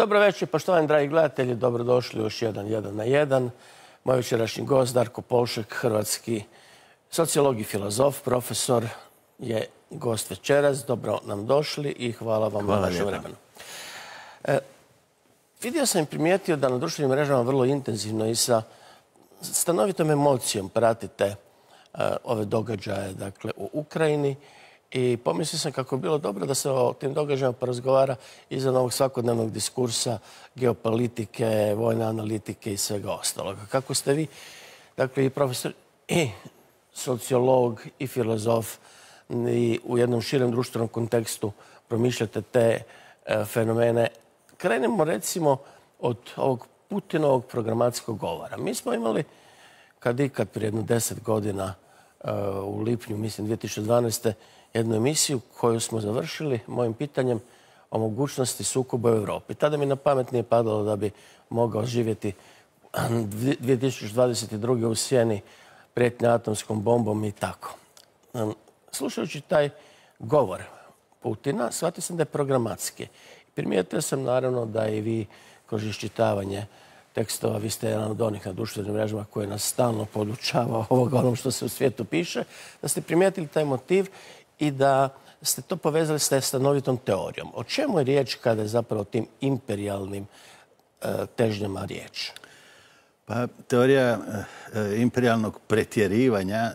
Dobro večer, poštovani dragi gledatelji, dobrodošli u još jedan 1 na 1. Moj večerašnji gost, Darko Polšek, hrvatski sociolog i filozof, profesor, je gost večeras. Dobro nam došli i hvala vam na vašem vremenu. Vidio sam i primijetio da na društvenim mrežama vrlo intenzivno i sa stanovitom emocijom pratite ove događaje, dakle, u Ukrajini. I pomislio sam kako bi bilo dobro da se o tim događajima porazgovara izvan ovog svakodnevnog diskursa, geopolitike, vojne analitike i svega ostaloga. Kako ste vi, dakle, i profesor, i sociolog, i filozof, i u jednom širem društvenom kontekstu promišljate te fenomene. Krenemo, recimo, od ovog Putinovog programatskog govora. Mi smo imali, kad prije jedno 10 godina, u lipnju, mislim, 2012. jednu emisiju koju smo završili mojim pitanjem o mogućnosti sukoba u Europi. Tada mi na pamet nije padalo da bi mogao živjeti 2022. u sjeni prijetnje atomskom bombom i tako. Slušajući taj govor Putina, shvatio sam da je programatski. Primijetio sam, naravno, da i vi kroz iščitavanje tekstova, vi ste jedan od onih na društvenim mrežama koji nas stalno podučava onom što se u svijetu piše, da ste primijetili taj motiv i da ste to povezali s stanovitom teorijom. O čemu je riječ kada je zapravo o tim imperijalnim težnjama riječ? Pa, teorija imperijalnog pretjerivanja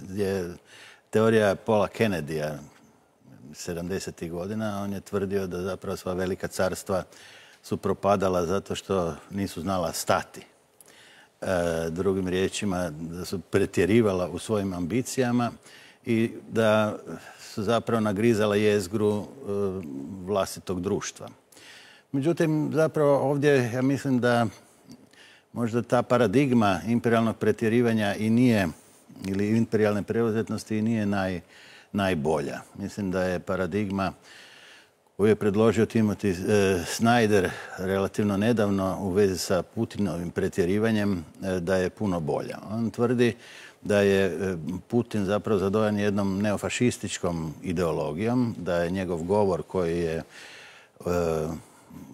je teorija Paula Kennedyja 70. godina. On je tvrdio da zapravo sva velika carstva su propadala zato što nisu znala stati. Drugim riječima, da su pretjerivala u svojim ambicijama i da su zapravo nagrizala jezgru vlastitog društva. Međutim, zapravo ovdje ja mislim da možda ta paradigma imperijalnog pretjerivanja i nije, ili imperijalne preuzetnosti i nije najbolja. Mislim da je paradigma koju je predložio Timothy Snyder relativno nedavno u vezi sa Putinovim pretjerivanjem, da je puno bolja. On tvrdi da je Putin zapravo zadovoljan jednom neofašističkom ideologijom, da je njegov govor koji je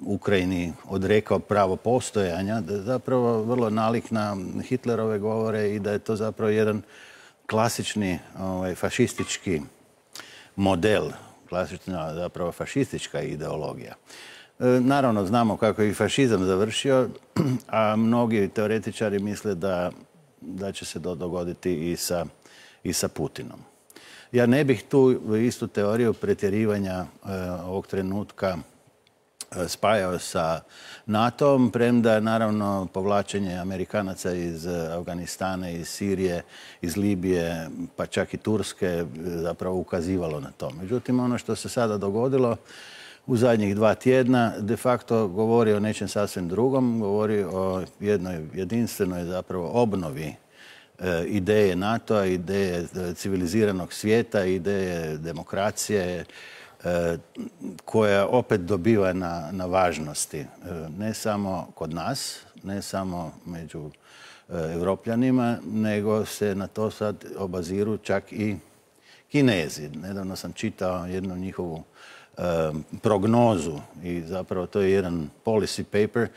Ukrajini odrekao pravo postojanja, da je zapravo vrlo nalik na Hitlerove govore i da je to zapravo jedan klasični fašistički model, klasična zapravo fašistička ideologija. Naravno, znamo kako je i fašizam završio, a mnogi teoretičari misle da će se to dogoditi i sa Putinom. Ja ne bih tu istu teoriju pretjerivanja ovog trenutka spajao sa NATO-om, premda naravno povlačenje Amerikanaca iz Afganistana, iz Sirije, iz Libije, pa čak i Turske zapravo ukazivalo na to. Međutim, ono što se sada dogodilo u zadnjih 2 tjedna de facto govori o nečem sasvim drugom, govori o jednoj jedinstvenoj zapravo obnovi ideje NATO-a, ideje civiliziranog svijeta, ideje demokracije, koja opet dobiva na važnosti. Ne samo kod nas, ne samo među Evropljanima, nego se na to sad obaziru čak i Kinezi. Nedavno sam čitao jednu njihovu prognozu i zapravo to je jedan policy paper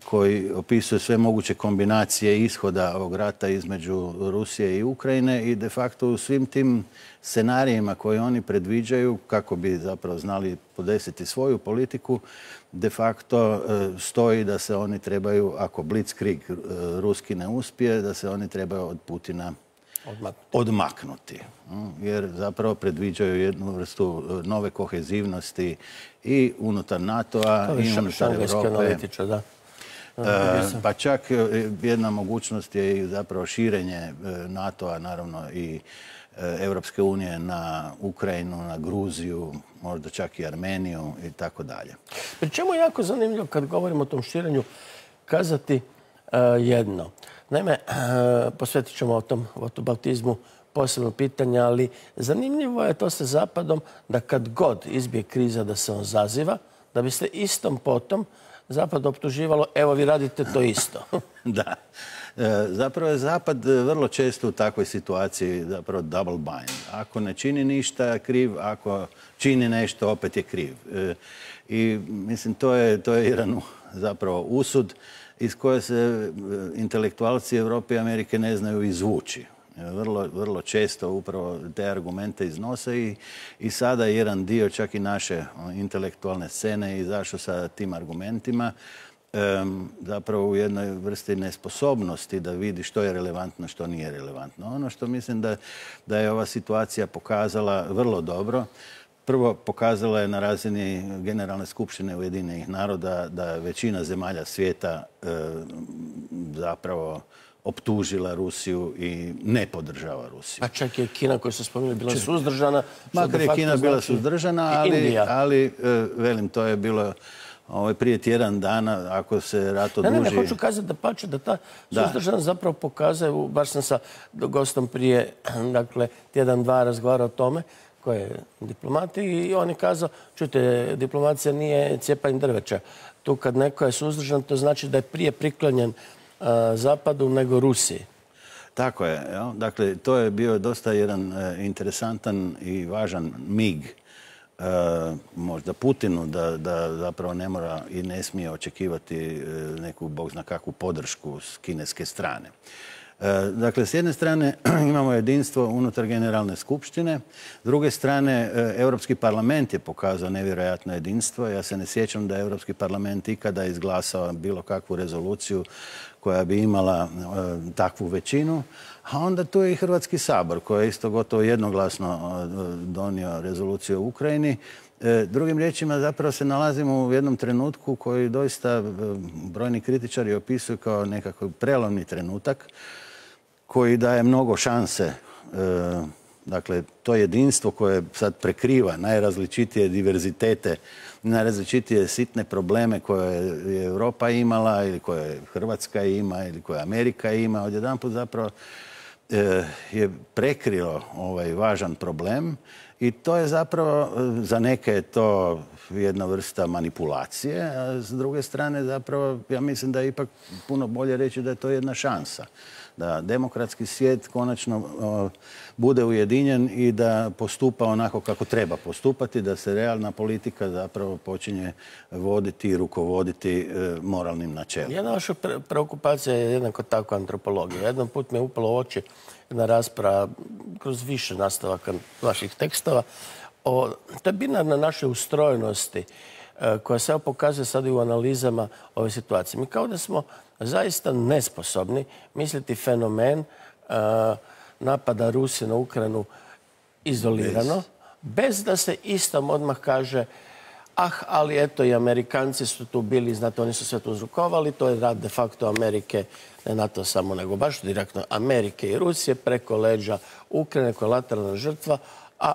koji opisuje sve moguće kombinacije ishoda ovog rata između Rusije i Ukrajine i de facto u svim tim scenarijima koje oni predviđaju kako bi zapravo znali podesiti svoju politiku, de facto stoji da se oni trebaju, ako blitzkrieg ruski ne uspije, da se oni trebaju od Putina odmaknuti. Jer zapravo predviđaju jednu vrstu nove kohezivnosti i unutar NATO-a i unutar Europe. Pa čak jedna mogućnost je i zapravo širenje NATO-a, naravno i Europske unije na Ukrajinu, na Gruziju, možda čak i Armeniju i tako dalje. Pri čemu je jako zanimljivo kad govorimo o tom širenju kazati jedno. Naime, posvetit ćemo o tom whataboutizmu posebno pitanje, ali zanimljivo je to sa Zapadom da kad god izbije kriza da se on zaziva, da biste istom potom Zapad optuživalo, evo vi radite to isto. Da. Zapravo je Zapad vrlo često u takvoj situaciji zapravo double bind. Ako ne čini ništa, kriv, ako čini nešto, opet je kriv. I mislim, to je jedan zapravo usud iz koje se intelektualci Europe i Amerike ne znaju izvući. Vrlo često upravo te argumente iznose i sada jedan dio čak i naše intelektualne scene izašao sa tim argumentima, zapravo u jednoj vrsti nesposobnosti da vidi što je relevantno, što nije relevantno. Ono što mislim da je ova situacija pokazala vrlo dobro, prvo pokazala je na razini Generalne skupštine Ujedinjenih naroda da većina zemalja svijeta zapravo optužila Rusiju i ne podržava Rusiju. Pa čak je Kina, koju ste spomenuli, bila suzdržana. Makar je Kina bila suzdržana, ali velim, to je bilo prije tjedan dana, ako se rat oduži... Ne, hoću kazati da pače, da ta suzdržanost zapravo pokazuje, baš sam sa gostom prije, dakle, tjedan, dva razgovarao o tome, koji je diplomat i on je kazao, čujte, diplomacija nije cijepanje drveća. Tu kad neko je suzdržan, to znači da je prije priklonjen Zapadu nego Rusiji. Tako je. Dakle, to je bio dosta jedan interesantan i važan mig možda Putinu da zapravo ne mora i ne smije očekivati neku, bog zna kakvu podršku s kineske strane. Dakle, s jedne strane imamo jedinstvo unutar Generalne skupštine, s druge strane Europski parlament je pokazao nevjerojatno jedinstvo. Ja se ne sjećam da je Europski parlament ikada izglasao bilo kakvu rezoluciju koja bi imala takvu većinu, a onda tu je i Hrvatski sabor koji je isto gotovo jednoglasno donio rezoluciju o Ukrajini. Drugim riječima, zapravo se nalazimo u jednom trenutku koji doista brojni kritičari opisuju kao nekakav prelomni trenutak koji daje mnogo šanse. Dakle, to jedinstvo koje sad prekriva najrazličitije diverzitete, najrazličitije sitne probleme koje je Europa imala ili koje Hrvatska ima ili koje Amerika ima, odjedanput zapravo je prekrilo ovaj važan problem i to je zapravo, za neke je to jedna vrsta manipulacije, a s druge strane zapravo ja mislim da je ipak puno bolje reći da je to jedna šansa. Da demokratski svijet konačno bude ujedinjen i da postupa onako kako treba postupati, da se realna politika zapravo počinje voditi i rukovoditi moralnim načelima. Jedna vaša preokupacija je jednako tako antropologija. Jedan put mi je upalo u oči jedna rasprava kroz više nastavaka vaših tekstova o toj binarnoj našoj ustrojenosti koja se pokazuje sad i u analizama ove situacije. Mi kao da smo zaista nesposobni misliti fenomen napada Rusije na Ukrajinu izolirano, bez da se istom odmah kaže ali eto i Amerikanci su tu bili, znate, oni su sve to uzrokovali, to je rad de facto Amerike, ne NATO samo, nego baš direktno Amerike i Rusije preko leđa Ukrajine koja je lateralna žrtva, a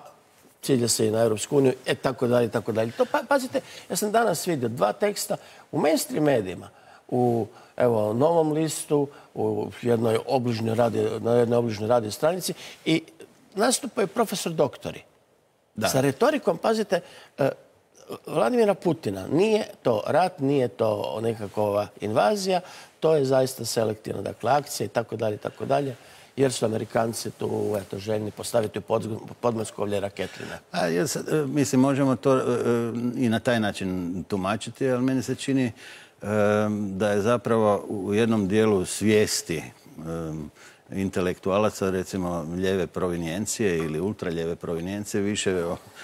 cilja se i na Europsku uniju, tako dalje, tako dalje. To, pazite, ja sam danas vidio dva teksta u mainstream medijima, u Novom listu, u jednoj obližnjoj radio stranici i nastupaju profesor doktori. Sa retorikom, pazite, Vladimira Putina. Nije to rat, nije to nekakva invazija, to je zaista selektivna, dakle, akcija i tako dalje, jer su Amerikanci tu željni postaviti u podmoskovlje raketline. Mislim, možemo to i na taj način tumačiti, ali meni se čini da je zapravo u jednom dijelu svijesti intelektualaca, recimo ljeve provinijencije ili ultraljeve provinijencije, više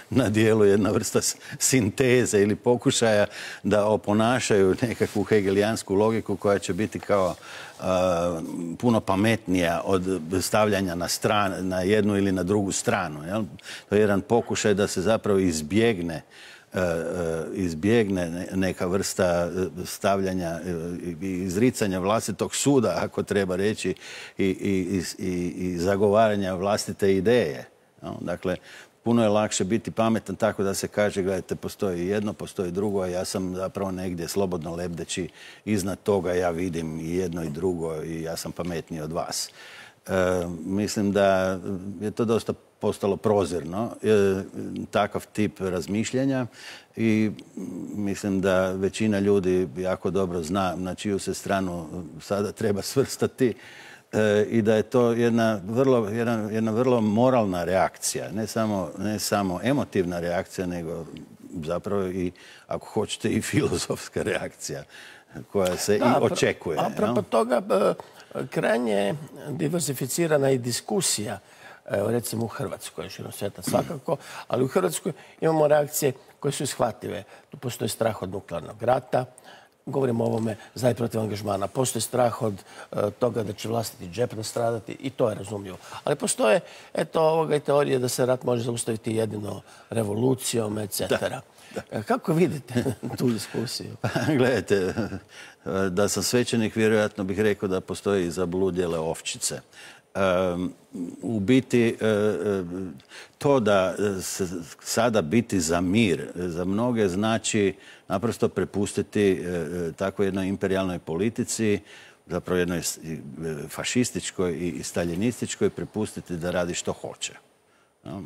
na dijelu jedna vrsta sinteze ili pokušaja da oponašaju nekakvu hegelijansku logiku koja će biti kao puno pametnija od stavljanja na jednu ili na drugu stranu. Jel? To je jedan pokušaj da se zapravo izbjegne neka vrsta stavljanja i izricanja vlastitog suda, ako treba reći, i zagovaranja vlastite ideje. Dakle, puno je lakše biti pametan tako da se kaže, gledajte, postoji jedno, postoji drugo, a ja sam zapravo negdje slobodno lebdeći iznad toga, ja vidim i jedno i drugo i ja sam pametniji od vas. Mislim da je to dosta postalo prozirno, takav tip razmišljanja i mislim da većina ljudi jako dobro zna na čiju se stranu sada treba svrstati i da je to jedna vrlo moralna reakcija, ne samo emotivna reakcija, nego zapravo i, ako hoćete, i filozofska reakcija koja se i očekuje. Apropo toga, krajnje diversificirana i diskusija, recimo u Hrvatskoj, širom svijeta svakako, ali u Hrvatskoj imamo reakcije koje su ishvatljive. Tu postoji strah od nuklearnog rata, govorimo o ovome za i protiv angažmana. Postoji strah od toga da će vlastiti džep nastradati i to je razumljivo. Ali postoje, i teorije da se rat može zaustaviti jedino revolucijom, etc. Kako vidite tu diskusiju? Gledajte, da sam svećenik, vjerojatno bih rekao da postoji i zabludjele ovčice. U biti, to da se sada biti za mir, za mnoge znači naprosto prepustiti tako jednoj imperijalnoj politici, zapravo jednoj fašističkoj i staljinističkoj, prepustiti da radi što hoće.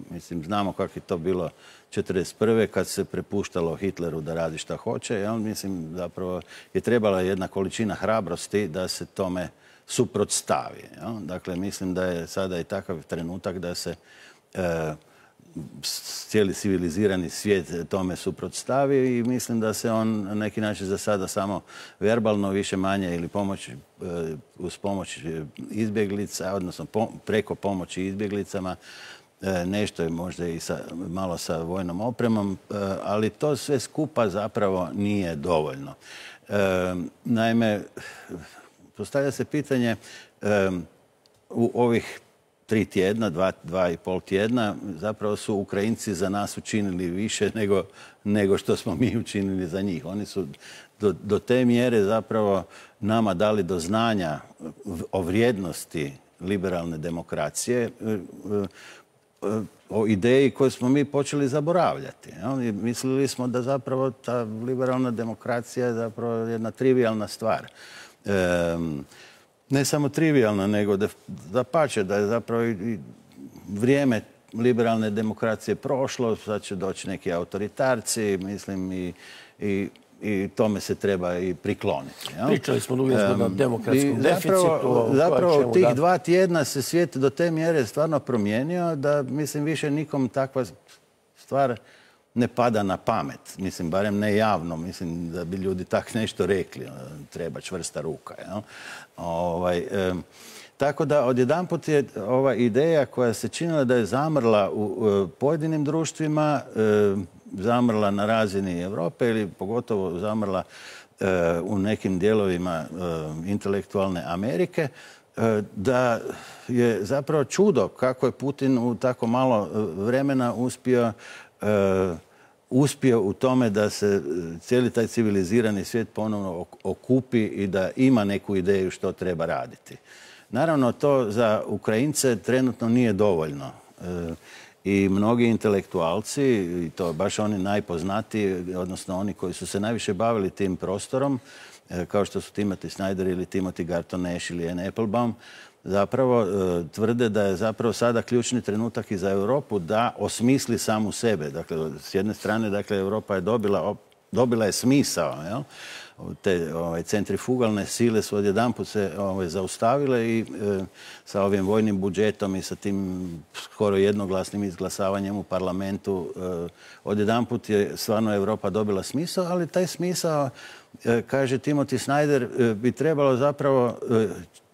Mislim, znamo kako je to bilo 1941. kad se prepuštalo Hitleru da radi što hoće. Mislim, zapravo je trebala jedna količina hrabrosti da se tome suprotstavi. Dakle, mislim da je sada i takav trenutak da se cijeli civilizirani svijet tome suprotstavi i mislim da se on na neki način za sada samo verbalno više manje ili uz pomoć izbjeglica, odnosno preko pomoći izbjeglicama, nešto je možda i malo sa vojnom opremom, ali to sve skupa zapravo nije dovoljno. Naime, postavlja se pitanje u ovih 3 tjedna, 2,5 tjedna, zapravo su Ukrajinci za nas učinili više nego što smo mi učinili za njih. Oni su do te mjere zapravo nama dali do znanja o vrijednosti liberalne demokracije, o ideji koju smo mi počeli zaboravljati. Mislili smo da zapravo ta liberalna demokracija je zapravo jedna trivijalna stvar. Ne samo trivijalna, nego dapače, da je zapravo i vrijeme liberalne demokracije prošlo, sad će doći neki autoritarci, mislim, i tome se treba i prikloniti. Pričali smo o demokratskom deficitu. Zapravo tih 2 tjedna se svijet do te mjere stvarno promijenio da, mislim, više nikom takva stvar ne pada na pamet. Mislim, barem ne javno. Mislim da bi ljudi tak nešto rekli. Treba čvrsta ruka. Tako da odjedanput je ova ideja koja se činila da je zamrla u pojedinim društvima, zamrla na razini Europe ili pogotovo zamrla u nekim dijelovima intelektualne Amerike, da je zapravo čudo kako je Putin u tako malo vremena uspio u tome da se cijeli taj civilizirani svijet ponovno okupi i da ima neku ideju što treba raditi. Naravno, to za Ukrajince trenutno nije dovoljno. I mnogi intelektualci, i to baš oni najpoznatiji, odnosno oni koji su se najviše bavili tim prostorom, kao što su Timothy Snyder ili Timothy Garton Ash ili Anne Applebaum, zapravo tvrde da je zapravo sada ključni trenutak i za Europu da osmisli samu sebe. Dakle, s jedne strane, dakle, Europa je dobila je smisao, te centrifugalne sile su odjedanput se zaustavile i sa ovim vojnim budžetom i sa tim skoro jednoglasnim izglasavanjem u parlamentu odjedanput je stvarno Europa dobila smisao, ali taj smisao, kaže Timothy Snyder, bi trebalo zapravo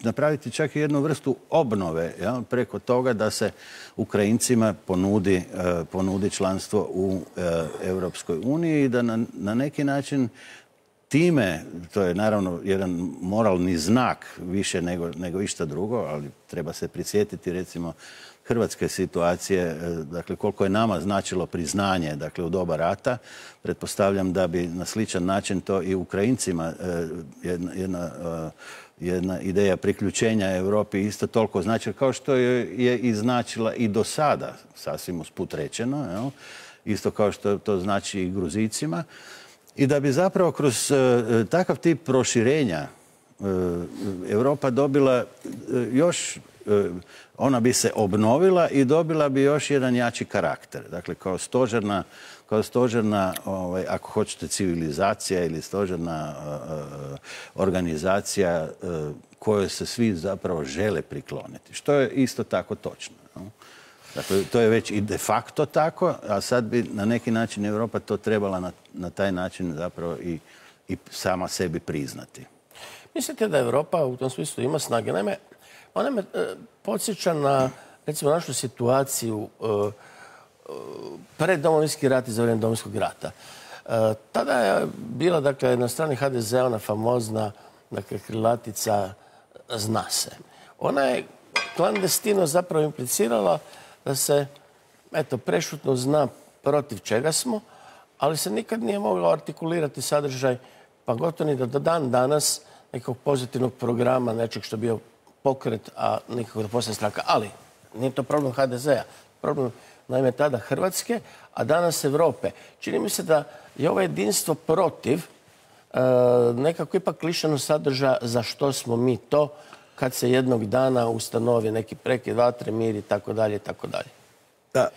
napraviti čak i jednu vrstu obnove preko toga da se Ukrajincima ponudi članstvo u Europskoj uniji i da na neki način time, to je naravno jedan moralni znak više nego išta drugo, ali treba se prisjetiti recimo hrvatske situacije, dakle koliko je nama značilo priznanje, dakle u doba rata. Pretpostavljam da bi na sličan način to i Ukrajincima jedna ideja priključenja Europi isto toliko značila kao što je i značila i do sada, sasvim usput rečeno, isto kao što to znači i Gruzicima. I da bi zapravo kroz takav tip proširenja Europa dobila još ona bi se obnovila i dobila bi još jedan jači karakter. Dakle, kao stožerna, ako hoćete, civilizacija ili stožerna organizacija kojoj se svi zapravo žele prikloniti. Što je isto tako točno. Dakle, to je već i de facto tako, a sad bi na neki način Europa to trebala na taj način zapravo i sama sebi priznati. Mislite da Europa u tom smislu ima snage? Naime, ona me podsjeća na, recimo, našu situaciju pred Domovinski rat i za vrijeme Domovinskog rata. Tada je bila, dakle, na strani HDZ-a ona famozna, dakle, krilatica "zna se". Ona je klandestino zapravo implicirala da se, eto, prešutno zna protiv čega smo, ali se nikad nije moglo artikulirati sadržaj, pa gotovo ni do dan danas nekog pozitivnog programa, nečeg što je bio pokret, a nikako da postane stranka. Ali nije to problem HDZ-a. Problem, naime, tada Hrvatske, a danas Europe. Čini mi se da je ovo jedinstvo protiv nekako ipak lišeno sadržaja za što smo mi to kad se jednog dana ustanovi neki prekid vatre, mir i tako dalje i tako dalje. Da,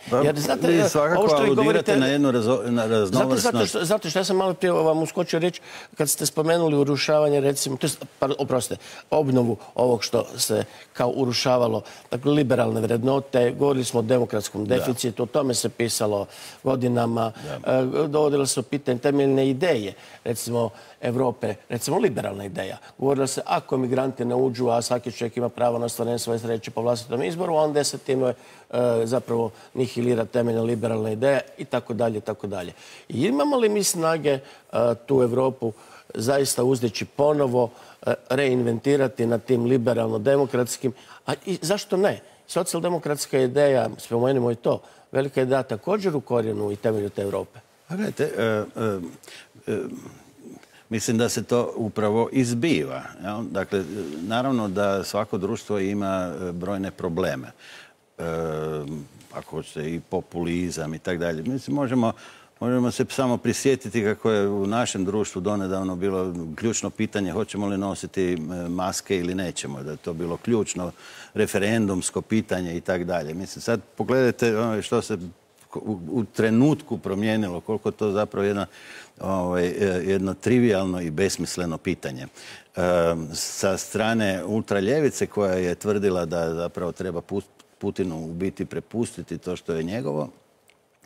vi svakako aludirate na jednu raznovrsnost. Zato što ja sam malo prije vam uskočio reći, kad ste spomenuli urušavanje, recimo, obnovu ovog što se kao urušavalo, dakle, liberalne vrednote, govorili smo o demokratskom deficitu, o tome se pisalo godinama, dovodilo se u pitanje temeljne ideje, recimo, Evrope, recimo liberalna ideja. Govorilo se, ako migranti ne uđu, a svaki čovjek ima pravo na ostvarenje svoje sreće po vlastitom izboru, onda se time zapravo nihilira temeljna liberalna ideja i tako dalje, i tako dalje. I imamo li mi snage tu Evropu zaista uzdići ponovo, reinventirati na tim liberalno-demokratskim, a i zašto ne? Socijaldemokratska ideja, spomenimo i to, velika ideja također u korijenu i temelju te Evrope. Gledajte, mislim da se to upravo izbiva. Dakle, naravno da svako društvo ima brojne probleme. Ako hoćete, i populizam i tako dalje. Mislim, možemo se samo prisjetiti kako je u našem društvu donedavno bilo ključno pitanje hoćemo li nositi maske ili nećemo. Da je to bilo ključno referendumsko pitanje i tako dalje. Mislim, sad pogledajte što se u trenutku promijenilo, koliko to zapravo jedno trivijalno i besmisleno pitanje. Sa strane ultraljevice koja je tvrdila da zapravo treba Putinu u biti prepustiti to što je njegovo,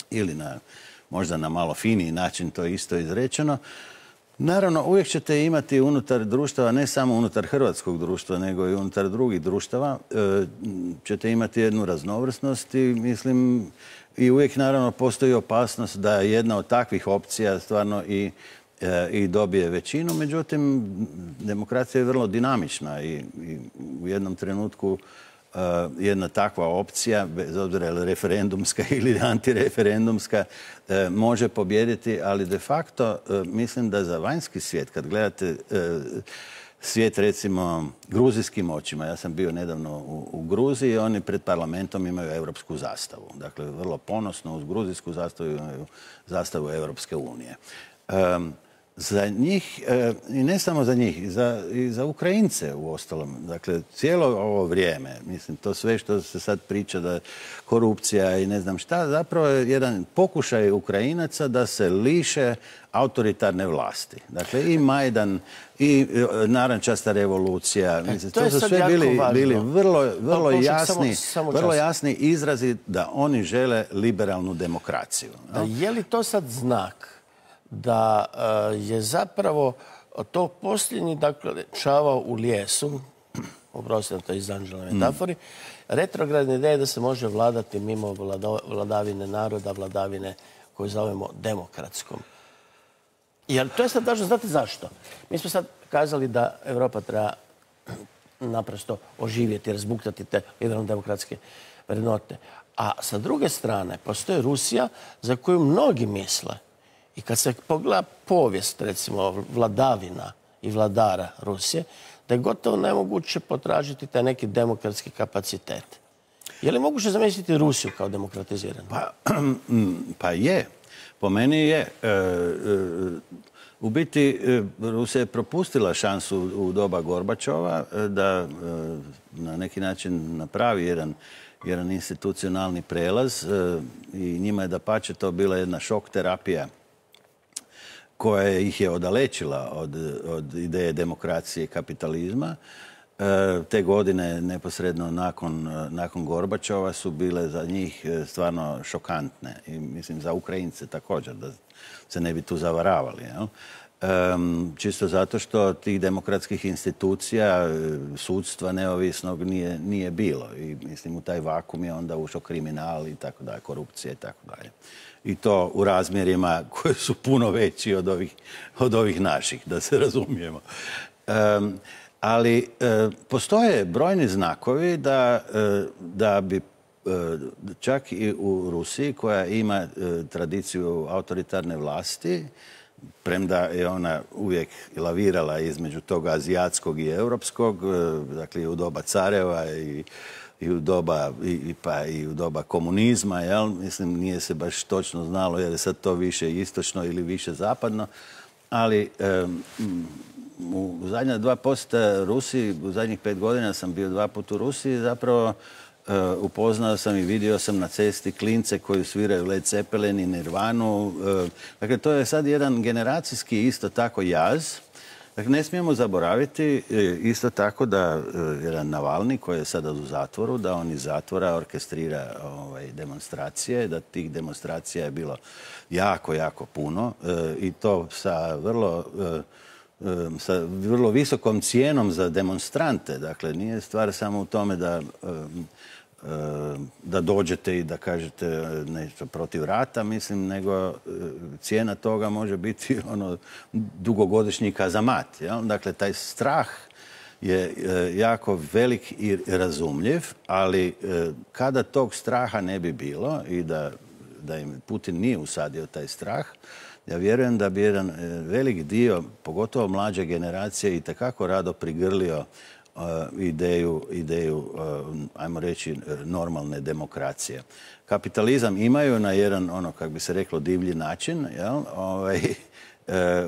ili možda na malo finiji način to isto izrečeno. Naravno, uvijek ćete imati unutar društava, ne samo unutar hrvatskog društva, nego i unutar drugih društava, ćete imati jednu raznovrsnost i mislim, i uvijek naravno postoji opasnost da jedna od takvih opcija stvarno i dobije većinu. Međutim, demokracija je vrlo dinamična i u jednom trenutku jedna takva opcija, bez obzira je li referendumska ili antireferendumska, može pobijediti, ali de facto mislim da za vanjski svijet, kad gledate svijet recimo gruzijskim očima, ja sam bio nedavno u Gruziji, oni pred parlamentom imaju europsku zastavu. Dakle, vrlo ponosno uz gruzijsku zastavu imaju zastavu Europske unije. Za njih, i ne samo za njih, i za Ukrajince u ostalom. Dakle, cijelo ovo vrijeme, mislim, to sve što se sad priča da korupcija i ne znam šta, zapravo je jedan pokušaj Ukrajinaca da se liše autoritarne vlasti. Dakle, i Majdan, i narančasta revolucija. Mislim, to su sve bili vrlo jasni izrazi da oni žele liberalnu demokraciju. Je li to sad znak da je zapravo to posljednji, dakle, čavao u lijesu, oprostite to iz Anđelove metafori, retrogradne ideje da se može vladati mimo vladavine naroda, vladavine koju zovemo demokratskom. Jer to je sad važno, znate zašto? Mi smo sad kazali da Europa treba naprosto oživjeti, razbuktati te liberalno-demokratske vrednote. A sa druge strane postoji Rusija za koju mnogi misle, i kad se pogleda povijest, recimo, vladavina i vladara Rusije, da je gotovo nemoguće potražiti taj neki demokratski kapacitet. Je li moguće zamisliti Rusiju kao demokratiziranu? Pa je. Po meni je. U biti, Rusija je propustila šansu u doba Gorbačova da na neki način napravi jedan institucionalni prelaz i njima je dapače to bila jedna šok terapija koja ih je odalečila od ideje demokracije i kapitalizma. Te godine, neposredno nakon Gorbačova, su bile za njih stvarno šokantne. I mislim za Ukrajince također, da se ne bi tu zavaravali. Čisto zato što tih demokratskih institucija, sudstva neovisnog nije bilo. I mislim u taj vakum je onda ušao kriminal i tako dalje, korupcija i tako dalje. I to u razmjerima koji su puno veći od ovih naših, da se razumijemo. Ali postoje brojni znakovi da bi čak i u Rusiji, koja ima tradiciju autoritarne vlasti, premda je ona uvijek lavirala između toga azijatskog i europskog, dakle i u doba careva i u doba komunizma, jel? Mislim, nije se baš točno znalo je li sad to više istočno ili više zapadno, ali u zadnja 2 posjeta Rusiji, u zadnjih 5 godina sam bio 2 puta u Rusiji, zapravo upoznao sam i vidio sam na cesti klince koji sviraju Led Zeppelin i Nirvanu. Dakle, to je sad jedan generacijski isto tako jaz. Dakle, ne smijemo zaboraviti isto tako da jedan Navalni, koji je sada u zatvoru, da on iz zatvora orkestrira demonstracije, da tih demonstracija je bilo jako, jako puno i to sa vrlo visokom cijenom za demonstrante. Dakle, nije stvar samo u tome da dođete i da kažete nešto protiv rata, mislim, nego cijena toga može biti dugogodišnji kazamat. Dakle, taj strah je jako velik i razumljiv, ali kada tog straha ne bi bilo i da im Putin nije usadio taj strah, ja vjerujem da bi jedan velik dio, pogotovo mlađe generacije, itekako rado prigrlio ideju, ajmo reći, normalne demokracije. Kapitalizam imaju na jedan, kako bi se reklo, divlji način.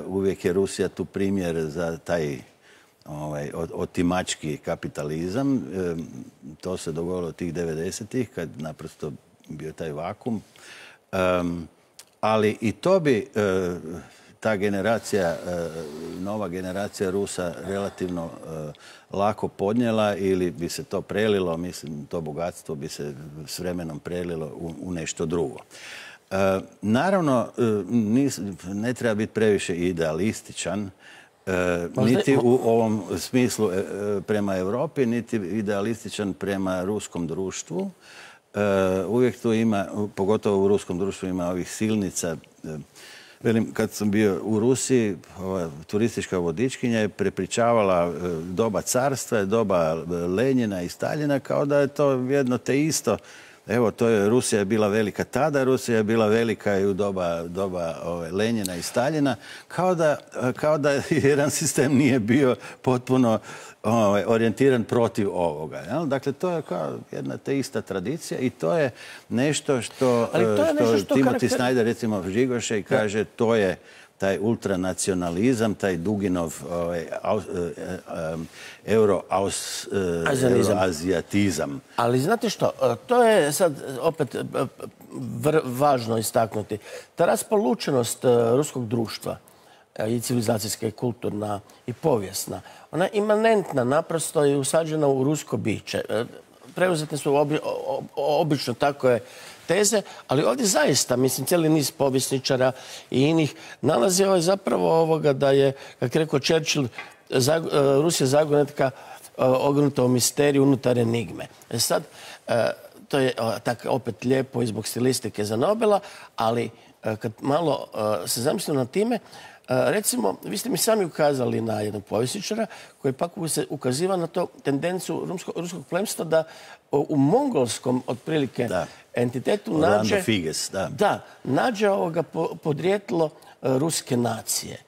Uvijek je Rusija tu primjer za taj otimački kapitalizam. To se dogodilo tih 90-ih, kad naprosto bio taj vakum. Ali i to bi ta generacija, nova generacija Rusa relativno lako podnijela ili bi se to prelilo, mislim, to bogatstvo bi se s vremenom prelilo u nešto drugo. Naravno, ne treba biti previše idealističan, niti u ovom smislu prema Europi, niti idealističan prema ruskom društvu. Uvijek tu ima, pogotovo u ruskom društvu, ima ovih silnica. Velim, kad sam bio u Rusiji, turistička vodičkinja je prepričavala doba carstva, doba Lenjina i Staljina, kao da je to jedno te isto. Evo, Rusija je bila velika tada, Rusija je bila velika i u doba Lenjina i Staljina, kao da jedan sistem nije bio potpuno orijentiran protiv ovoga. Dakle, to je kao jedna te ista tradicija i to je nešto što Timothy Snyder, recimo, žigoše i kaže, to je taj ultranacionalizam, taj Duginov euroazijatizam. Ali znate što, to je sad opet važno istaknuti. Ta raspolučenost ruskog društva, i civilizacijska, i kulturna, i povijesna, ona je imanentna, naprosto je usađena u rusko biće. Preuzetne su obično takve teze, ali ovdje zaista, mislim, cijeli niz povjesničara i inih nalazi zapravo ovoga da je, kako je rekao Churchill, Rusija zagonetka ognuta u misteriju unutar enigme. Sad, to je tako opet lijepo i zbog stilistike za Nobela, ali kad malo se zamislimo na time, recimo, vi ste mi sami ukazali na jednog povjesničara koji pak ukaziva na to tendenciju ruskog plemstva da u mongolskom, otprilike, entitetu nađe podrijetlo ruske nacije.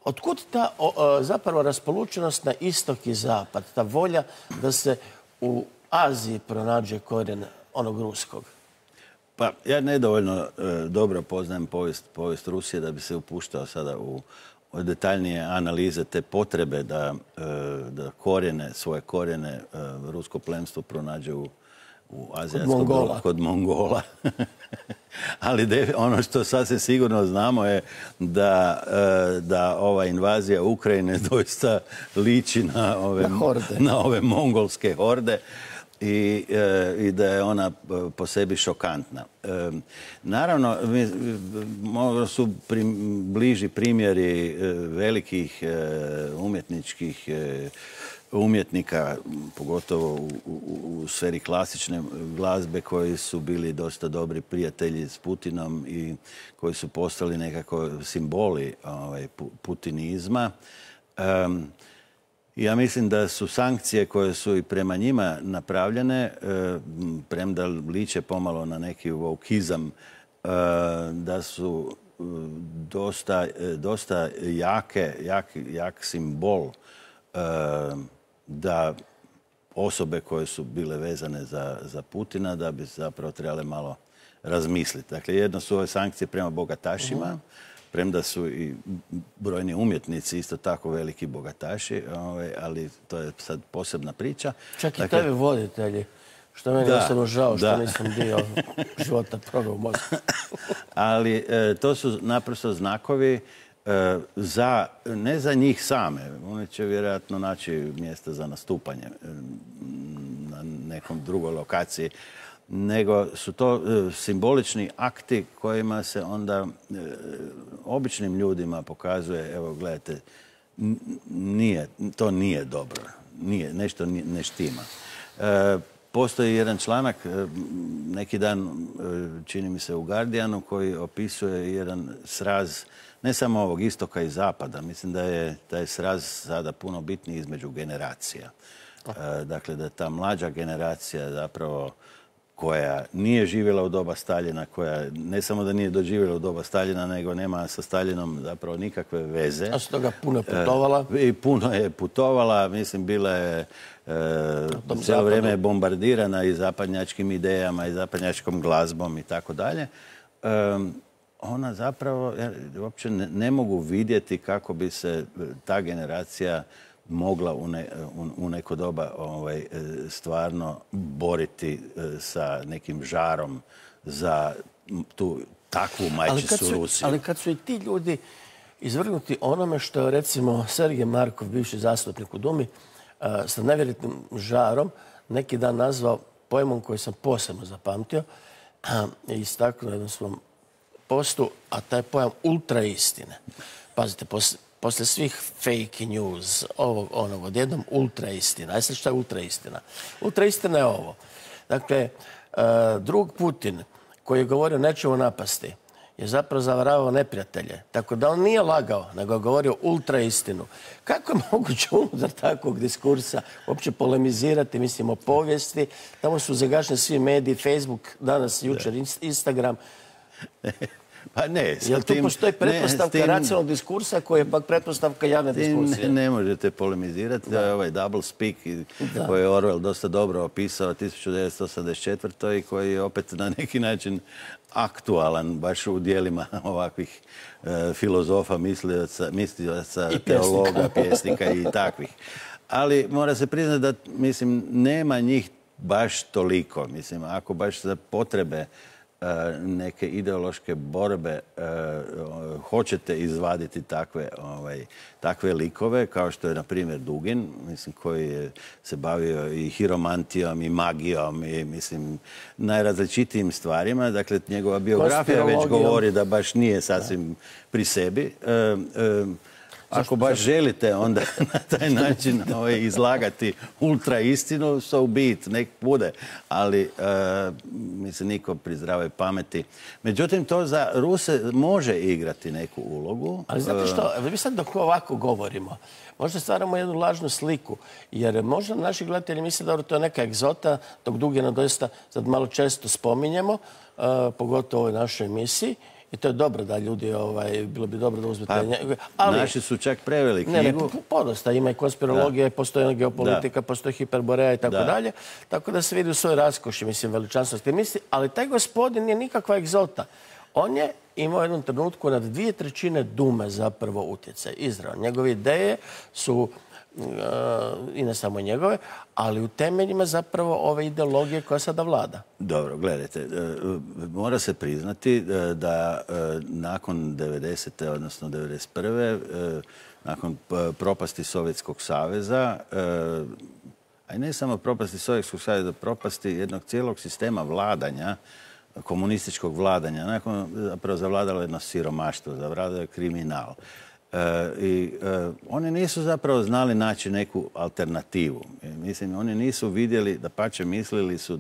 Otkud ta zapravo raspolučenost na istok i zapad, ta volja da se u Aziji pronađe korijen onog ruskog? Pa ja nedovoljno dobro poznajem povijest Rusije da bi se upuštao sada u detaljnije analize te potrebe da svoje korijene rusko plemstvo pronađe u azijskom kod Mongola. Ali ono što sasvim sigurno znamo je da ova invazija Ukrajine doista liči na ove mongolske horde i da je ona po sebi šokantna. Naravno, možda su bliži primjeri velikih umjetničkih umjetnika, pogotovo u sferi klasične glazbe, koji su bili dosta dobri prijatelji s Putinom i koji su postali nekako simboli putinizma. Ja mislim da su sankcije koje su i prema njima napravljene, premda liče pomalo na neki vokizam, da su dosta jak simbol da osobe koje su bile vezane za Putina da bi zapravo trebale malo razmisliti. Dakle, jedno su ove sankcije prema bogatašima, premda su i brojni umjetnici isto tako veliki bogataši, ali to je sad posebna priča. Čak i tebi voditelji, što meni osobno žao što nisam dio života proveo u Moskvi. Ali to su naprosto znakovi ne za njih same. Oni će vjerojatno naći mjesta za nastupanje na nekom drugoj lokaciji, nego su to simbolični akti kojima se onda običnim ljudima pokazuje, evo gledajte, to nije dobro, nešto ne štima. Postoji jedan članak, neki dan, čini mi se u Guardianu, koji opisuje jedan sraz ne samo ovog istoka i zapada. Mislim da je taj sraz sada puno bitniji između generacija. Dakle, da ta mlađa generacija zapravo koja nije živjela u doba Staljina, koja ne samo da nije doživjela u doba Staljina, nego nema sa Staljinom zapravo nikakve veze. A s toga puno putovala? I puno je putovala, mislim, bila je cijelo vrijeme bombardirana i zapadnjačkim idejama i zapadnjačkom glazbom i tako dalje. Ona zapravo, uopće ne mogu vidjeti kako bi se ta generacija mogla u neko doba stvarno boriti sa nekim žarom za tu takvu majčicu Rusiju. Ali kad su i ti ljudi izvrgnuti onome što je, recimo, Sergej Markov, bivši zastupnik u Dumi, sa nevjerojatnim žarom neki dan nazvao pojmom koji sam posebno zapamtio i istaknuo jednom svom postu, a taj pojam ultraistine. Pazite, poslije svih fake news, onog, odjednom ultraistina. A sad šta je ultraistina? Ultraistina je ovo. Dakle, drug Putin, koji je govorio nećemo napasti, je zapravo zavaravao neprijatelje. Tako da on nije lagao, nego je govorio ultraistinu. Kako je moguće unutar takvog diskursa uopće polemizirati, mislim, o povijesti? Tamo su zagašeni svi mediji, Facebook, danas, jučer, Instagram. Pa ne, jel tu postoji pretpostavka racionalnog diskursa koja je pak pretpostavka javne diskusije? Ne možete polemizirati. Ovaj double speak koji je Orwell dosta dobro opisao 1984. i koji je opet na neki način aktualan baš u dijelima ovakvih filozofa, mislioca, teologa, pjesnika i takvih. Ali mora se priznati da, mislim, nema njih baš toliko. Mislim, ako baš za potrebe neke ideološke borbe hoćete izvaditi takve likove, kao što je, na primjer, Dugin, mislim, koji se bavio i hiromantijom i magijom i, mislim, najrazličitijim stvarima. Dakle, njegova biografija već govori da baš nije sasvim pri sebi. Ako baš želite onda na taj način izlagati ultra istinu, so be it, nek bude. Ali, mislim, niko pri zdravoj pameti. Međutim, to za Ruse može igrati neku ulogu. Ali znate što, mi sad dok ovako govorimo, možda stvaramo jednu lažnu sliku, jer možda naši gledatelji misle da to je neka egzota, dok Dugina doista sad malo često spominjemo, pogotovo u ovoj našoj emisiji, I to je dobro da ljudi, bilo bi dobro da uzmete... Naši su čak preveli knjigu. Ne, podosta. Ima i konspirologije, postoji geopolitika, postoji hiperboreja i tako dalje. Tako da se vidi u svojoj raskoši, mislim, veličanstvenosti misli. Ali taj gospodin nije nikakva egzota. On je imao u jednom trenutku nad 2/3 Dume zapravo utjecaj. Izravno. Njegove ideje su, i ne samo njegove, ali u temeljima zapravo ove ideologije koja sada vlada. Dobro, gledajte, mora se priznati da nakon 90. odnosno 91. Nakon propasti Sovjetskog saveza, a i ne samo propasti Sovjetskog saveza, propasti jednog cijelog sistema vladanja, komunističkog vladanja, nakon zapravo zavladalo jedno siromaštvo, zavladalo je kriminal. I oni nisu zapravo znali naći neku alternativu. Mislim, oni nisu vidjeli, dapače mislili su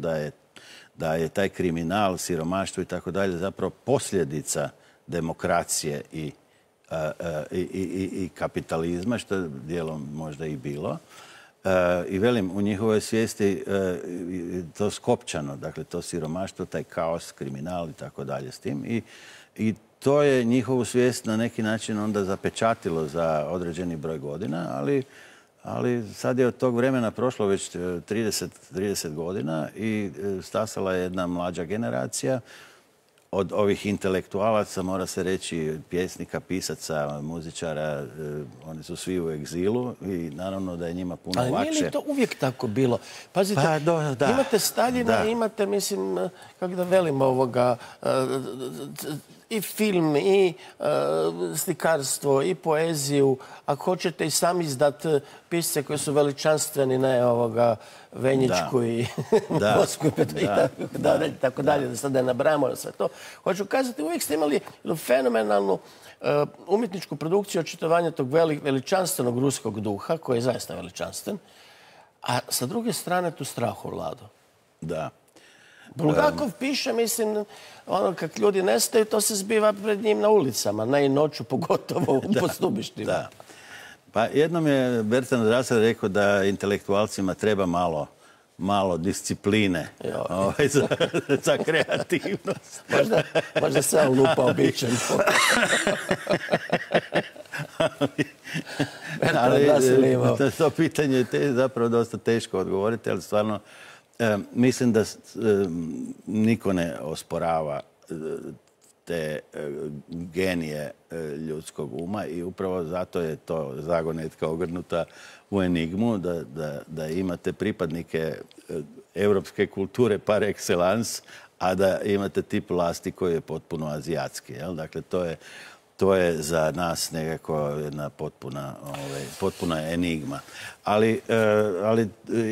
da je taj kriminal, siromaštvo i tako dalje zapravo posljedica demokracije i kapitalizma, što je dijelom možda i bilo. I velim, u njihovoj svijesti to skopčano, dakle to siromaštvo, taj kaos, kriminal i tako dalje s tim. I to je njihovu svijest na neki način onda zapečatilo za određeni broj godina, ali sad je od tog vremena prošlo već 30 godina i stasala je jedna mlađa generacija od ovih intelektualaca, mora se reći, pjesnika, pisaca, muzičara, oni su svi u egzilu i naravno da je njima puno lakše. Ali nije li to uvijek tako bilo? Pazite, imate Staljina, imate, mislim, kako da velim i film, i slikarstvo, i poeziju. Ako hoćete i sami izdat pisce koji su veličanstveni, ne Venjičku i Bosku i tako dalje, da sad ne nabrajamo sve to. Hoću kazati, uvijek ste imali fenomenalnu umjetničku produkciju očitovanja tog veličanstvenog ruskog duha, koji je zaista veličanstven, a sa druge strane tu strahu vladu. Da. Bulgakov piše, mislim, kad ljudi nestaju, to se zbiva pred njim na ulicama, ne i noću, pogotovo u postubištima. Da. Pa jednom je Bertrand Russell rekao da intelektualcima treba malo discipline za kreativnost. Možda se on lupa običan. To pitanje je zapravo dosta teško odgovoriti, ali stvarno mislim da niko ne osporava te genije ljudskog uma i upravo zato je to zagonetka ogrnuta u enigmu, da imate pripadnike europske kulture par excellence, a da imate tip vlasti koji je potpuno azijatski. Dakle, to je za nas nekako jedna potpuna enigma. Ali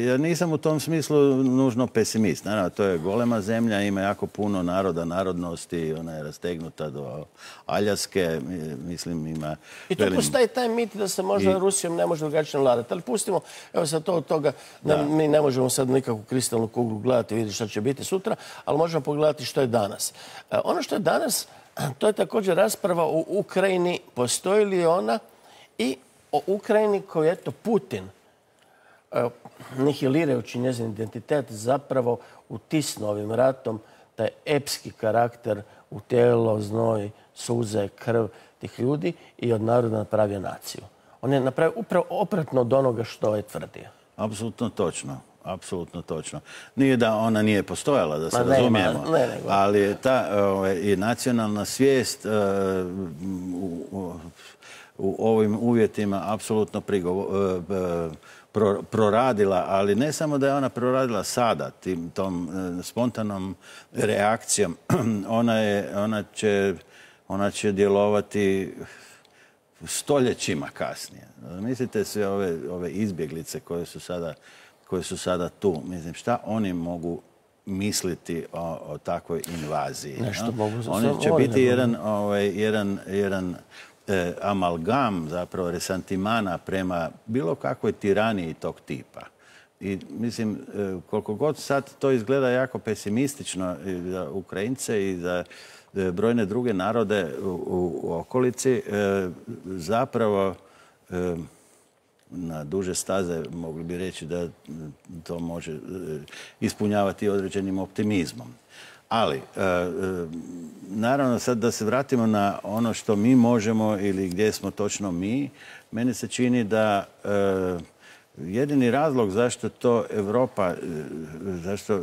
ja nisam u tom smislu nužno pesimist. Naravno, to je golema zemlja, ima jako puno naroda, narodnosti, ona je rastegnuta do Aljaske, mislim ima... I tu postoji taj mit da se možda Rusijom ne može drugačije vladati. Ali pustimo, evo sad to od toga, mi ne možemo sad nikakvu kristalnu kuglu gledati i vidjeti šta će biti sutra, ali možemo pogledati što je danas. Ono što je danas, to je također rasprava o Ukrajini, postoji li ona, i o Ukrajini koju, eto, Putin, nihilirajući njezin identitet, zapravo utisnuo ovim ratom taj epski karakter u tijelo, znoj, suze, krv tih ljudi i od naroda napravio naciju. On je napravio upravo opratno od onoga što je tvrdio. Apsolutno točno. Apsolutno točno. Nije da ona nije postojala, da se razumijemo, ali je ta nacionalna svijest u ovim uvjetima apsolutno proradila, ali ne samo da je ona proradila sada, tom spontanom reakcijom, ona će djelovati stoljećima kasnije. Mislite se ove izbjeglice koje su sada tu. Mislim, šta oni mogu misliti o takvoj invaziji? Oni će biti jedan amalgam, zapravo resantimana prema bilo kakvoj tiraniji tog tipa. I mislim, koliko god sad to izgleda jako pesimistično za Ukrajince i za brojne druge narode u okolici, zapravo na duže staze mogli bi reći da to može ispunjavati određenim optimizmom. Ali, naravno sad da se vratimo na ono što mi možemo ili gdje smo točno mi, meni se čini da jedini razlog zašto to Europa, zašto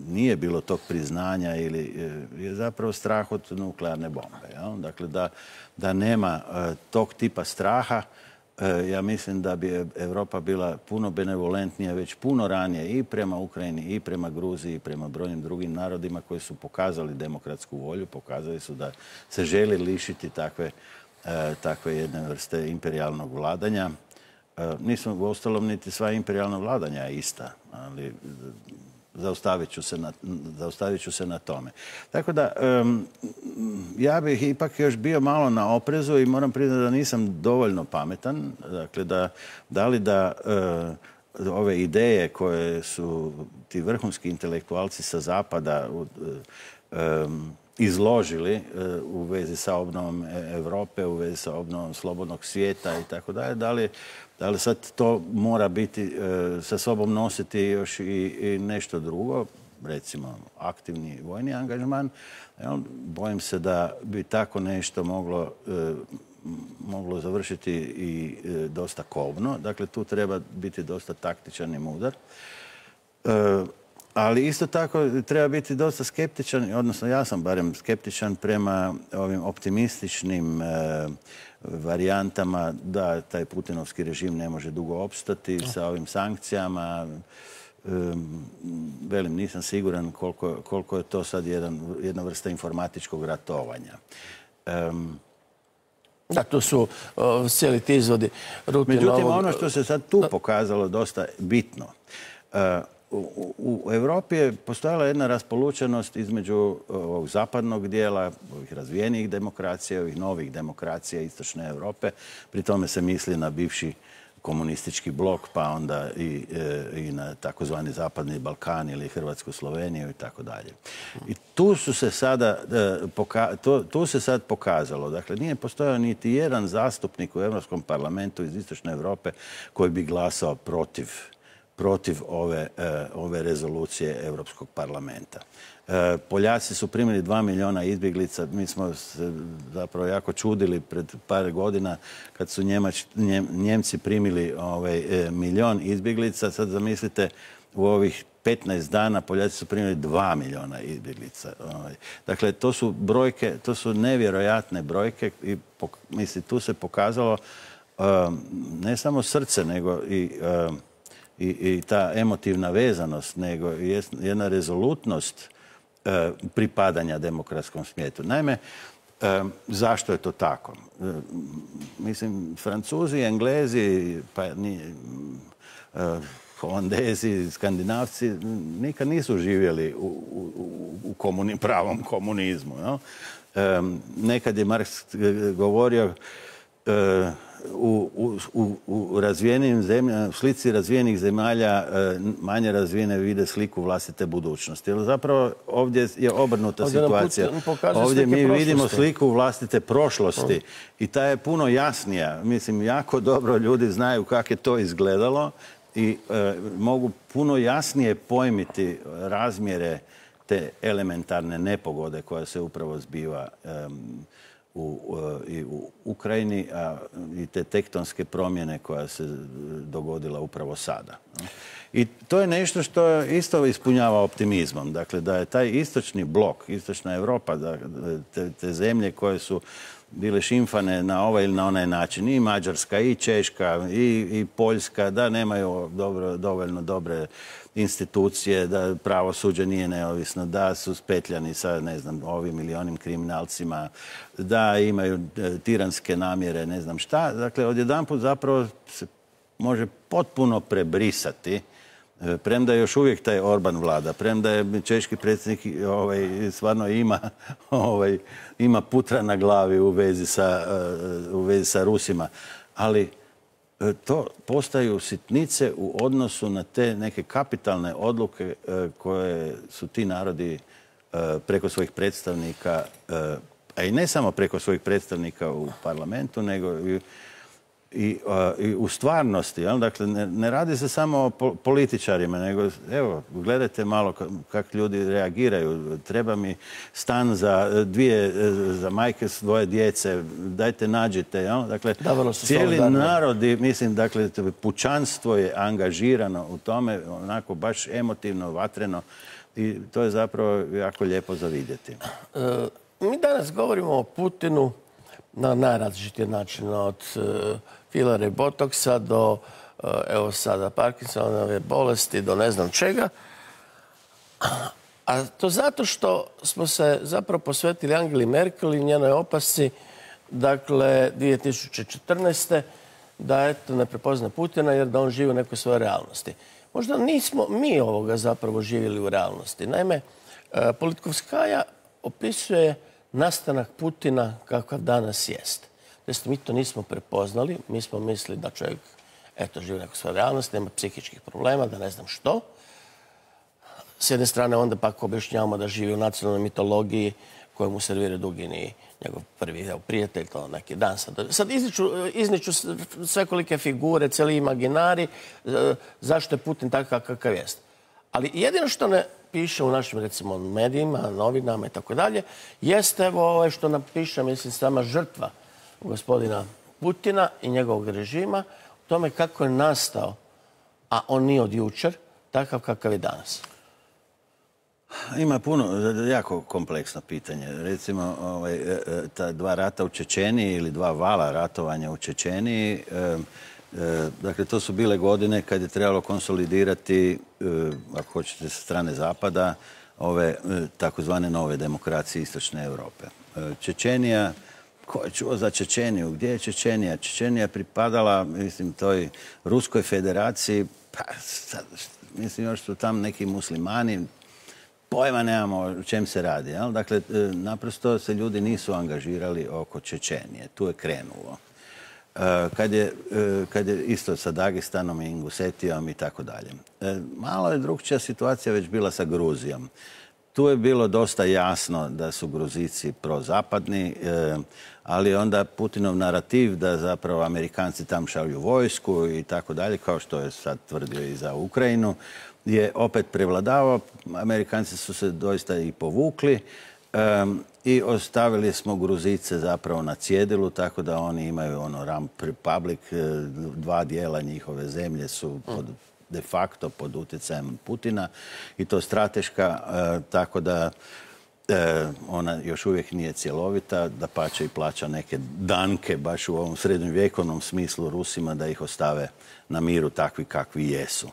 nije bilo tog priznanja ili je zapravo strah od nuklearne bombe. Jel? Dakle, da nema tog tipa straha, ja mislim da bi Europa bila puno benevolentnija već puno ranije i prema Ukrajini, i prema Gruziji, i prema brojnim drugim narodima koji su pokazali demokratsku volju, pokazali su da se želi lišiti takve jedne vrste imperijalnog vladanja. Nismo uostalom niti sva imperijalna vladanja ista, ali zaustavit ću se na tome. Tako da, ja bih ipak još bio malo na oprezu i moram priznati da nisam dovoljno pametan. Dakle, da li ove ideje koje su ti vrhunski intelektualci sa zapada izložili u vezi sa obnovom Europe, u vezi sa obnovom slobodnog svijeta i tako dalje, da li sad to mora biti, sa sobom nositi još i nešto drugo, recimo aktivni vojni angažman. Bojim se da bi tako nešto moglo završiti i dosta kobno. Dakle, tu treba biti dosta taktičan i mudar. Ali isto tako treba biti dosta skeptičan, odnosno ja sam barem skeptičan prema ovim optimističnim varijantama da taj putinovski režim ne može dugo opstati sa ovim sankcijama. Velim, nisam siguran koliko je to sad jedna vrsta informatičkog ratovanja. Da, tu su cijeli ti izvodi rutina. Međutim, ono što se sad tu pokazalo dosta bitno, u Europi je postojala jedna raspolučenost između ovog zapadnog dijela, ovih razvijenijih demokracija, ovih novih demokracija Istočne Europe. Pri tome se misli na bivši komunistički blok, pa onda i na takozvani Zapadni Balkan ili Hrvatsku, Sloveniju i tako dalje. I tu se sad pokazalo, dakle, nije postojao niti jedan zastupnik u Europskom parlamentu iz Istočne Europe koji bi glasao protiv ove rezolucije Europskog parlamenta. Poljaci su primili 2 milijuna izbjeglica. Mi smo se zapravo jako čudili pred par godina kad su Njemci primili 1 milijun izbjeglica. Sad zamislite, u ovih 15 dana Poljaci su primili 2 milijuna izbjeglica. Dakle, to su brojke, to su nevjerojatne brojke i tu se pokazalo ne samo srce, nego i ta emotivna vezanost, nego jedna rezolutnost pripadanja demokratskom svijetu. Naime, zašto je to tako? Mislim, Francuzi, Englezi, pa Holandezi, Skandinavci nikad nisu živjeli u pravom komunizmu. Nekad je Marks govorio u razvijenim zemljama, u slici razvijenih zemalja manje razvijene vide sliku vlastite budućnosti. Jer zapravo ovdje je obrnuta situacija. Ovdje mi vidimo sliku vlastite prošlosti i ta je puno jasnija. Mislim, jako dobro ljudi znaju kako je to izgledalo i mogu puno jasnije pojmiti razmjere te elementarne nepogode koja se upravo zbiva i u Ukrajini, i te tektonske promjene koja se dogodila upravo sada. I to je nešto što isto ispunjava optimizmom. Dakle, da je taj istočni blok, istočna Europa, te zemlje koje su bile šimfane na ovaj ili na onaj način, i Mađarska, i Češka, i Poljska, da nemaju dovoljno dobre institucije, da pravosuđe nije neovisno, da su spetljani sa, ne znam, ovim ili onim kriminalcima, da imaju tiranske namjere, ne znam šta. Dakle, odjedanput zapravo se može potpuno prebrisati, premda još uvijek taj Orban vlada, premda je češki predsjednik stvarno ima putra na glavi u vezi sa Rusima, ali to postaju sitnice u odnosu na te neke kapitalne odluke koje su ti narodi preko svojih predstavnika, a i ne samo preko svojih predstavnika u parlamentu, nego i u stvarnosti. Dakle, ne radi se samo o političarima, nego evo, gledajte malo kako ljudi reagiraju. Treba mi stan za majke s dvoje djece, dajte nađite. Dakle, cijeli narodi, mislim, dakle, pučanstvo je angažirano u tome, onako baš emotivno, vatreno, i to je zapravo jako lijepo za vidjeti. Mi danas govorimo o Putinu na najrazličitije načine, od filera i botoksa do, evo sada, Parkinsonove bolesti, do ne znam čega. A to zato što smo se zapravo posvetili Angeli Merkel i njenoj opasci, dakle, 2014. da eto ne prepozna Putina jer da on živi u nekoj svojoj realnosti. Možda nismo mi ovoga zapravo živjeli u realnosti. Naime, Politkovskaja opisuje nastanak Putina kakav danas jest. Znači, mi to nismo prepoznali, mi smo mislili da čovjek eto, živi u nekoj svojoj realnosti, nema psihičkih problema, da ne znam što. S jedne strane onda pak objašnjavamo da živi u nacionalnoj mitologiji koju mu servira Dugin i njegov prvi prijatelj, to neki dan. Sad izniču svekolike figure, cijeli imaginari, zašto je Putin takav kakav jest. Ali jedino što ne piše u našim, recimo, medijima, novinama i tako dalje, jeste ovo što nam piše, mislim, sama žrtva gospodina Putina i njegovog režima, o tome kako je nastao, a on nije od jučer, takav kakav je danas. Ima puno, jako kompleksno pitanje. Recimo, ta dva rata u Čečeniji ili dva vala ratovanja u Čečeniji, dakle, to su bile godine kad je trebalo konsolidirati, ako hoćete, sa strane Zapada, ove takozvane nove demokracije Istočne Europe. Čečenija, ko je čuo za Čečeniju? Gdje je Čečenija? Čečenija pripadala, mislim, toj Ruskoj federaciji, pa, mislim, još su tam neki muslimani, pojma nemamo o čem se radi. Jel? Dakle, naprosto se ljudi nisu angažirali oko Čečenije. Tu je krenulo. Kad je isto sa Dagestanom i Ingusetijom i tako dalje. Malo je drugčija situacija već bila sa Gruzijom. Tu je bilo dosta jasno da su Gruzici prozapadni, ali onda Putinov narativ da zapravo Amerikanci tam šalju vojsku i tako dalje, kao što je sad tvrdio i za Ukrajinu, je opet prevladavao. Amerikanci su se doista i povukli i ostavili smo Gruzice zapravo na cjedilu, tako da oni imaju Rump Republic, dva dijela njihove zemlje su de facto pod utjecajem Putina i to strateška, tako da ona još uvijek nije cjelovita, dapače i plaća neke danke baš u ovom srednjovjekovnom smislu Rusima da ih ostave na miru takvi kakvi jesu.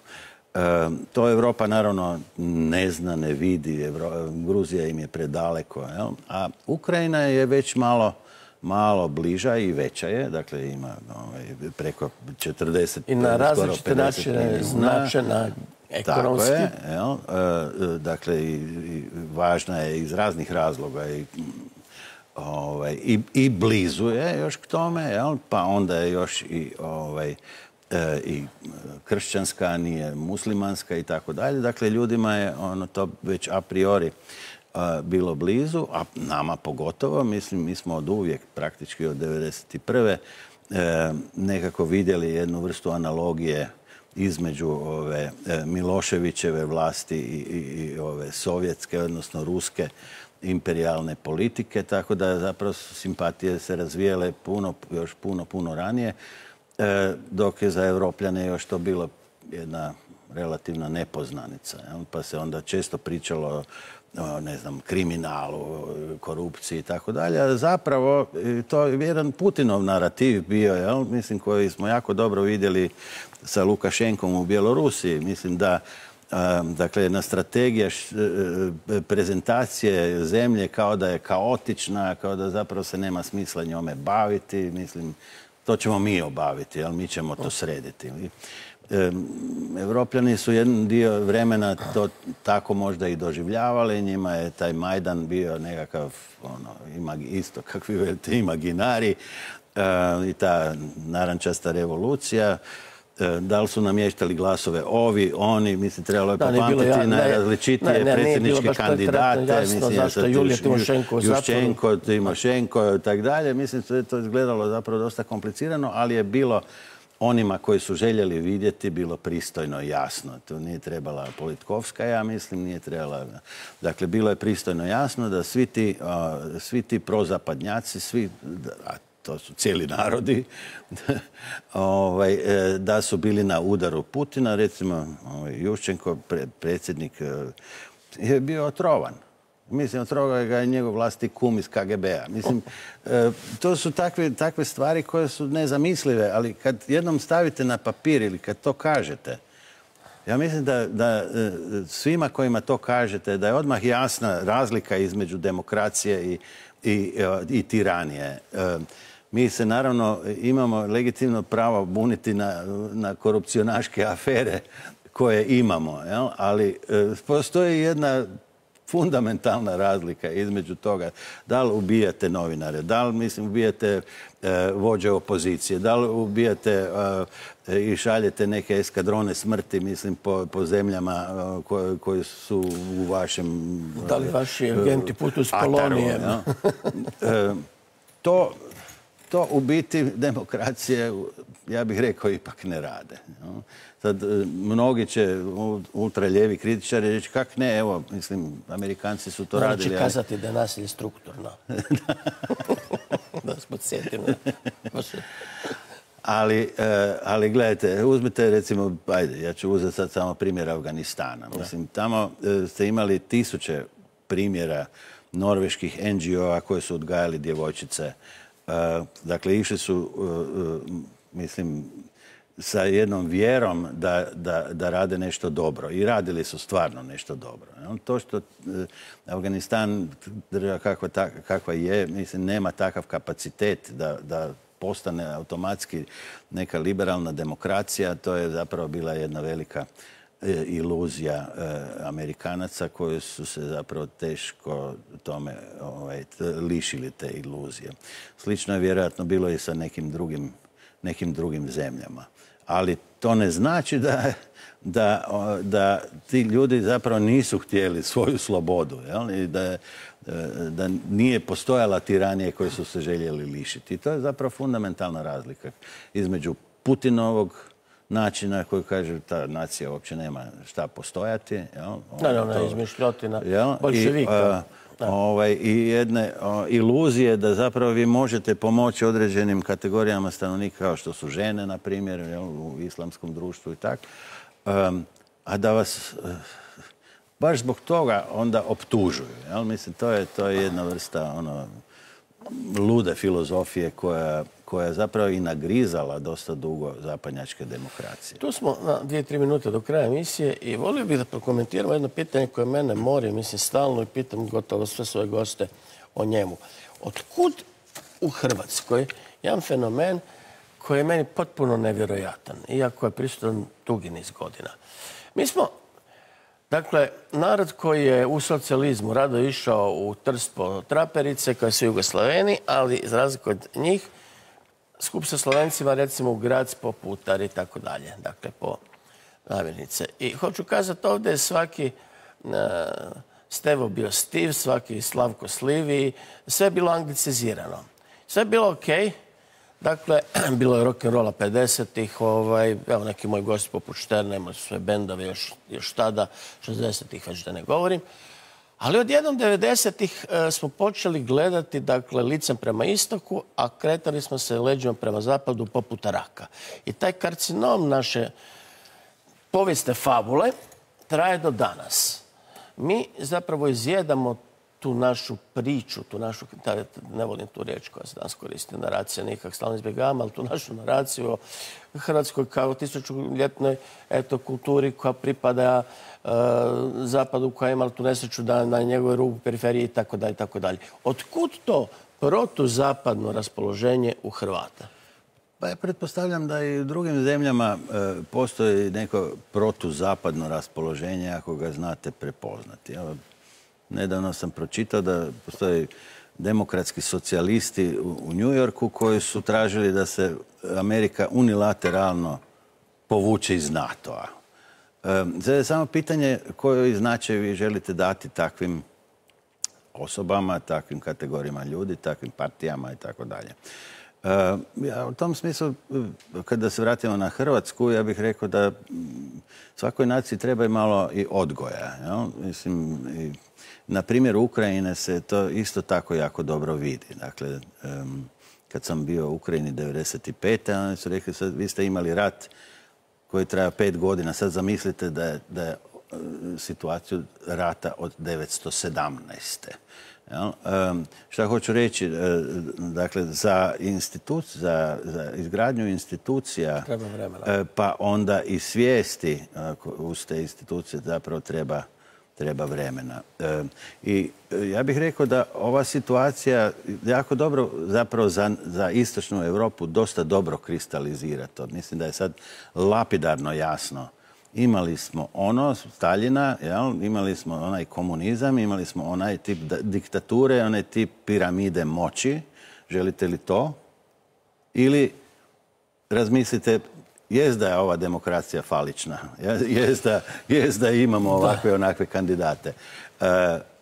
To Europa naravno ne zna, ne vidi, Gruzija im je predaleko, jel? A Ukrajina je već malo bliža i veća je, dakle ima preko 40, i na različite načine značena ekonomski. Tako je, jel? Dakle i važna je iz raznih razloga i blizu je još k tome, jel? Pa onda je još i kršćanska, nije muslimanska i tako dalje. Dakle, ljudima je to već a priori bilo blizu, a nama pogotovo. Mislim, mi smo od uvijek, praktički od 1991. Nekako vidjeli jednu vrstu analogije između ove Miloševićeve vlasti i ove sovjetske, odnosno ruske imperijalne politike, tako da zapravo su simpatije se razvijele još puno ranije, dok je za Evropljane još to bilo jedna relativna nepoznanica. Pa se onda često pričalo o, ne znam, kriminalu, korupciji i tako dalje. A zapravo to je jedan Putinov narativ bio, jel? Mislim, koji smo jako dobro vidjeli sa Lukašenkom u Bjelorusiji. Mislim da dakle, jedna strategija prezentacije zemlje kao da je kaotična, kao da zapravo se nema smisla njome baviti. Mislim, to ćemo mi obaviti, jel? Mi ćemo to srediti. Evropljani su jedan dio vremena to tako možda i doživljavali. Njima je taj Majdan bio nekakav, isto kakvi velite imaginari i ta narančasta revolucija. da li su namještali glasove ovi, oni, mislim, trebalo je popamtiti najrazličitije predsjedničke kandidate, mislim, Juščenko, Timošenko i tako dalje. Mislim, sve to izgledalo zapravo dosta komplicirano, ali je bilo onima koji su željeli vidjeti bilo pristojno jasno. To nije trebala Politkovska, ja mislim, nije trebala. Dakle, bilo je pristojno jasno da svi ti prozapadnjaci, a to su cijeli narodi, da su bili na udaru Putina. Recimo, Juščenko, predsjednik, je bio otrovan. Mislim, otrovao ga je njegov vlastiti kum iz KGB-a. Mislim, to su takve stvari koje su nezamislive, ali kad jednom stavite na papir ili kad to kažete, ja mislim da svima kojima to kažete, da je odmah jasna razlika između demokracije i tiranije. Mi se naravno imamo legitimno pravo buniti na korupcionaške afere koje imamo, ali postoji jedna fundamentalna razlika između toga da li ubijate novinare, da li, mislim, ubijate vođe opozicije, da li ubijate i šaljete neke eskadrone smrti, mislim, po zemljama koji su u vašem da li vaši agenti putuju s kolonijem? To u biti demokracije, ja bih rekao, ipak ne rade. Sad, mnogi će ultraljevi kritičari reći, kak ne, evo, mislim, Amerikanci su to radili. Znači kazati da je nasilje strukturno. Da se podsjetimo. Ali gledajte, uzmite recimo, ajde, ja ću uzeti sad samo primjer Afganistana. Mislim, tamo ste imali tisuće primjera norveških NGO-a koje su odgajali djevojčice. Dakle, išli su, mislim, sa jednom vjerom da rade nešto dobro. I radili su stvarno nešto dobro. To što Afganistan, država kakva je, mislim, nema takav kapacitet da postane automatski neka liberalna demokracija, to je zapravo bila jedna velika iluzija Amerikanaca koji su se zapravo teško tome lišili te iluzije. Slično je vjerojatno bilo i sa nekim drugim zemljama. Ali to ne znači da ti ljudi zapravo nisu htjeli svoju slobodu, i da nije postojala tiranije koje su se željeli lišiti. I to je zapravo fundamentalna razlika između Putinovog načina koji kaže ta nacija uopće nema šta postojati. Ona izmišljotina boljševika. I jedne iluzije da zapravo vi možete pomoći određenim kategorijama stanovnika kao što su žene, na primjer, u islamskom društvu i tako, a da vas baš zbog toga onda optužuju. Mislim, to je jedna vrsta lude filozofije koja je zapravo i nagrizala dosta dugo zapadnjačke demokracije. Tu smo na 2-3 minute do kraja emisije i volio bih da prokomentiramo jedno pitanje koje mene mori, mislim, stalno, i pitam gotovo sve svoje goste o njemu. Otkud u Hrvatskoj jedan fenomen koji je meni potpuno nevjerojatan, iako je prisutan dugi niz godina? Mi smo, dakle, narod koji je u socijalizmu rado išao u Trst po traperice, kao su Jugoslaveni, ali za razliku od njih, skup sa Slovencima, recimo, u Grac po Putar i tako dalje, dakle, po namirnice. I hoću kazati, ovdje je svaki Stevo bio Stiv, svaki Slavko Slivi, sve je bilo anglicizirano. Sve je bilo okej. Dakle, bilo je rock'n'rolla 50-ih, evo neki moji gosti poput Šterna, imali su sve bendove još tada, 60-ih već da ne govorim. Ali odjednom 90-ih smo počeli gledati, dakle, licem prema istoku, a kretali smo se leđima prema zapadu poput raka. I taj karcinom naše povijesne fabule traje do danas. Mi zapravo izjedamo tu našu priču, tu našu, ne volim tu riječ koja se danas koristi, naracija, nikak stalno izbjegavam, ali tu našu naraciju o Hrvatskoj kao tisućljetnoj kulturi koja pripada zapadu, koja je imala tu nesreću da na njegovoj rubu periferiji itd. Otkud to protuzapadno raspoloženje u Hrvata? Pa ja pretpostavljam da i u drugim zemljama postoji neko protuzapadno raspoloženje ako ga znate prepoznati. Nedavno sam pročitao da postoje demokratski socijalisti u New Yorku koji su tražili da se Amerika unilateralno povući iz NATO-a. Sada je samo pitanje koji značaj vi želite dati takvim osobama, takvim kategorijama ljudi, takvim partijama i tako dalje. Ja u tom smislu, kada se vratimo na Hrvatsku, ja bih rekao da svakoj naciji treba i malo i odgoja. Mislim, na primjeru Ukrajine se to isto tako jako dobro vidi. Dakle, kad sam bio u Ukrajini 1995. oni su rekli, sad, vi ste imali rat koji traja 5 godina. Sad zamislite da je situaciju rata od 1917. Šta hoću reći, dakle, za izgradnju institucija, pa onda i svijesti uz te institucije zapravo treba vremena. I ja bih rekao da ova situacija jako dobro zapravo za istočnu Europu dosta dobro kristalizira to. Mislim da je sad lapidarno jasno. Imali smo Staljina, imali smo onaj komunizam, imali smo onaj tip diktature, onaj tip piramide moći. Želite li to? Ili razmislite, jest da je ova demokracija falična, jest da imamo ovakve onakve kandidate,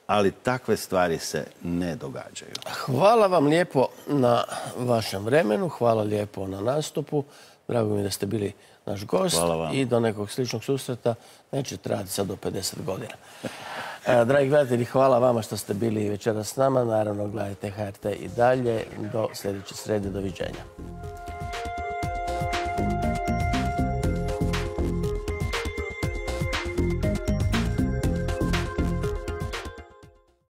ali takve stvari se ne događaju. Hvala vam lijepo na vašem vremenu, hvala lijepo na nastupu. Drago mi da ste bili naš gost i do nekog sličnog susreta neće trajati sad do 50 godina. Dragi gledatelji, hvala vama što ste bili večeras s nama. Naravno, gledajte HRT i dalje. Do sljedeće srede. Doviđenja.